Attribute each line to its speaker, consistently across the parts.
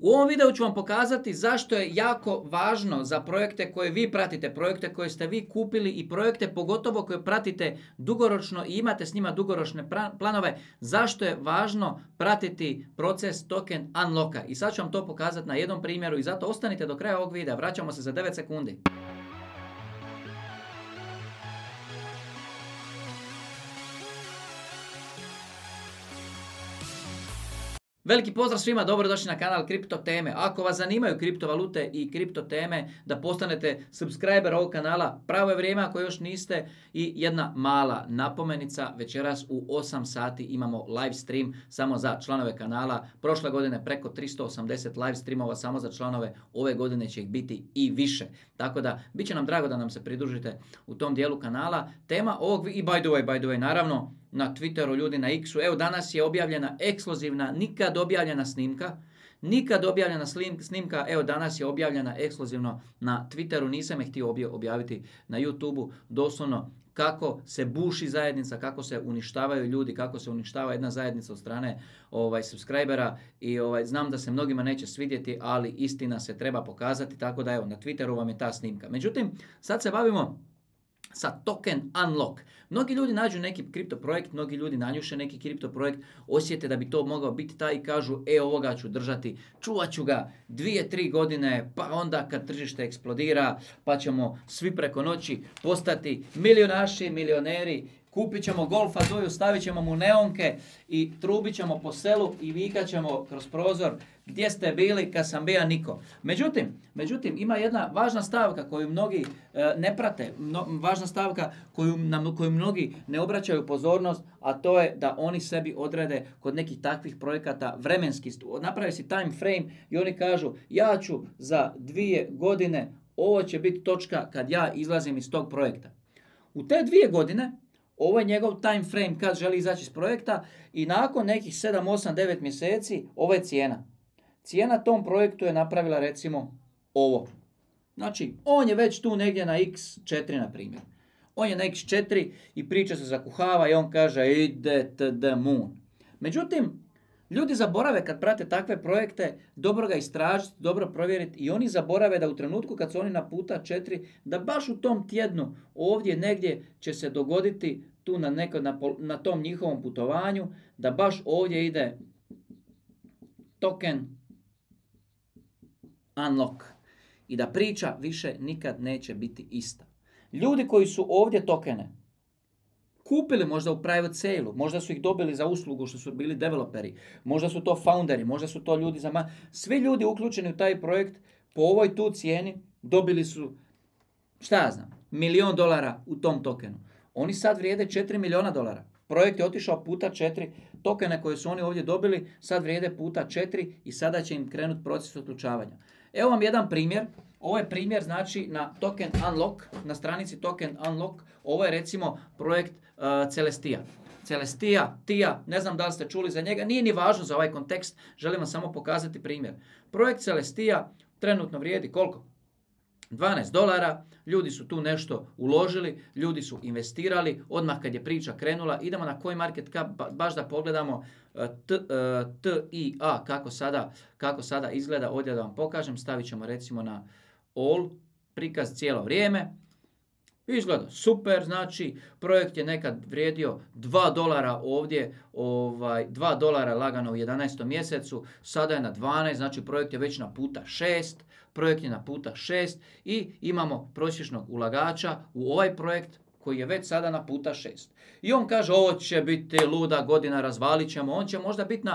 Speaker 1: U ovom videu ću vam pokazati zašto je jako važno za projekte koje vi pratite, projekte koje ste vi kupili i projekte pogotovo koje pratite dugoročno i imate s njima dugoročne planove, zašto je važno pratiti proces token unlocka. I sad ću vam to pokazati na jednom primjeru i zato ostanite do kraja ovog videa. Vraćamo se za 9 sekundi. Veliki pozdrav svima, dobrodošli na kanal Kripto teme. Ako vas zanimaju kriptovalute i kripto teme, da postanete subscriber ovog kanala, pravo je vrijeme ako još niste. I jedna mala napomenica, večeras u 8 sati imamo live stream samo za članove kanala. Prošle godine preko 380 live streamova samo za članove, ove godine će ih biti i više. Tako da, bit će nam drago da nam se pridružite u tom dijelu kanala. Tema ovog, i by the way, naravno, na Twitteru, ljudi na X-u. Evo, danas je objavljena ekskluzivna, nikad objavljena snimka. Nikad objavljena snimka, evo danas je objavljena ekskluzivno na Twitteru. Nisam je htio objaviti na YouTubeu. Doslovno kako se buši zajednica, kako se uništavaju ljudi, kako se uništava jedna zajednica od strane subscribera. I znam da se mnogima neće svidjeti, ali istina se treba pokazati. Tako da evo, na Twitteru vam je ta snimka. Međutim, sad se bavimo sa token unlock. Mnogi ljudi nađu neki kripto projekt, mnogi ljudi nanjuše neki kripto projekt, osjete da bi to mogao biti taj i kažu ovoga ću držati, čuvat ću ga 2-3 godine, pa onda kad tržište eksplodira, pa ćemo svi preko noći postati milionaši, milioneri, kupit ćemo Golfa Zoju, stavit ćemo mu neonke i trubit ćemo po selu i vikat ćemo kroz prozor gdje ste bili kad sam bija niko. Međutim, ima jedna važna stavka koju mnogi ne prate, važna stavka koju mnogi ne obraćaju pozornost, a to je da oni sebi odrede kod nekih takvih projekata vremenski, naprave si time frame i oni kažu ja ću za 2 godine, ovo će biti točka kad ja izlazim iz tog projekta. U te 2 godine ovo je njegov time frame kad želi izaći iz projekta i nakon nekih 7, 8, 9 mjeseci ovo je cijena. Cijena tom projektu je napravila recimo ovo. Znači, on je već tu negdje na X4 na primjer. On je na X4 i priča se zakuhava i on kaže ide to the moon. Međutim, ljudi zaborave kad prate takve projekte, dobro ga istražiti, dobro provjeriti i oni zaborave da u trenutku kad su oni na puta 4, da baš u tom tjednu ovdje negdje će se dogoditi tu na tom njihovom putovanju, da baš ovdje ide token unlock i da priča više nikad neće biti ista. Ljudi koji su ovdje tokene kupili možda u private sale-u, možda su ih dobili za uslugu što su bili developeri, možda su to founderi, možda su to ljudi svi ljudi uključeni u taj projekt po ovoj tu cijeni dobili su, šta ja znam, $1 000 000 u tom tokenu. Oni sad vrijede $4 milijuna. Projekt je otišao puta 4, tokene koje su oni ovdje dobili sad vrijede puta 4 i sada će im krenuti proces otključavanja. Evo vam jedan primjer. Ovo je primjer znači na token unlock, na stranici token unlock. Ovo je recimo projekt Celestia. Celestia, ne znam da li ste čuli za njega, nije ni važno za ovaj kontekst, želim vam samo pokazati primjer. Projekt Celestia trenutno vrijedi koliko? $12, ljudi su tu nešto uložili, ljudi su investirali, odmah kad je priča krenula, idemo na CoinMarketCap baš da pogledamo TIA kako sada izgleda, ovdje da vam pokažem, stavit ćemo recimo na all, prikaz cijelo vrijeme. Izgleda super, znači projekt je nekad vrijedio $2 ovdje, $2 lagano u 11. mjesecu, sada je na 12, znači projekt je već na puta 6, projekt je na puta 6 i imamo prosječnog ulagača u ovaj projekt koji je već sada na puta 6. I on kaže ovo će biti luda godina, razvalit ćemo, on će možda biti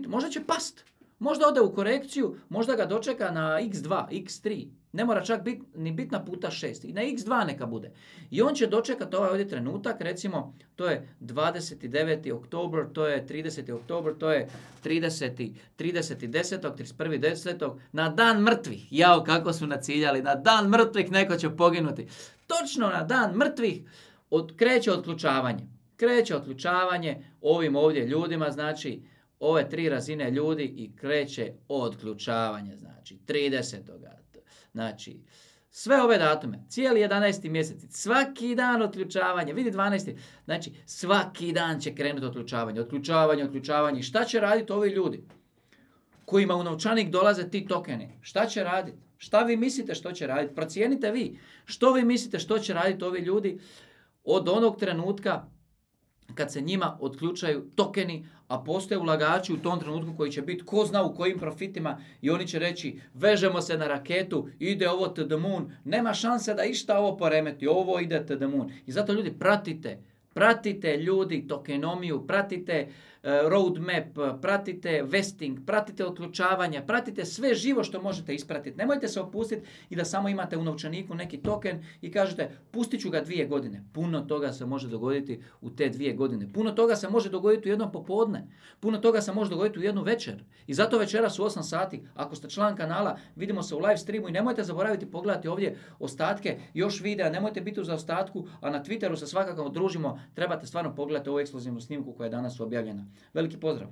Speaker 1: možda će past, možda ode u korekciju, možda ga dočeka na X2, X3. Ne mora čak ni biti na puta 6. I na X2 neka bude. I on će dočekati ovaj ovdje trenutak, recimo, to je 29. oktober, to je 30. oktober, to je 30. 10. 31. 10. Na dan mrtvih. Jao, kako su naciljali. Na dan mrtvih neko će poginuti. Točno na dan mrtvih kreće otključavanje. Kreće otključavanje ovim ovdje ljudima, znači, ove 3 razine ljudi i kreće otključavanje, znači 30. Znači, sve ove datume, cijeli 11. mjesec, svaki dan otključavanje, vidi 12. Znači, svaki dan će krenuti otključavanje. Šta će raditi ovi ljudi? kojima u novčanik dolaze ti tokeni. Šta će raditi? Šta vi mislite što će raditi? Procijenite vi. Što vi mislite što će raditi ovi ljudi od onog trenutka kad se njima otključaju tokeni, a postoje ulagači u tom trenutku koji će biti ko zna u kojim profitima i oni će reći vežemo se na raketu, ide ovo to the moon, nema šanse da išta ovo poremeti, ovo ide to the moon. I zato ljudi pratite ljudi tokenomiju, pratite roadmap, pratite vesting, pratite otključavanja, pratite sve živo što možete ispratiti. Nemojte se opustiti i da samo imate u novčaniku neki token i kažete pustit ću ga 2 godine. Puno toga se može dogoditi u te 2 godine. Puno toga se može dogoditi u jednom popodne. Puno toga se može dogoditi u jednu večer. I zato večeras u 8 sati, ako ste član kanala, vidimo se u live streamu i nemojte zaboraviti pogledati ovdje ostatke još videa, nemojte biti u zaostatku, a na Twitteru se svakako družimo. Trebate stvarno pogledati ovu ekskluzivnu snimku koja je danas objavljena. Veliki pozdrav!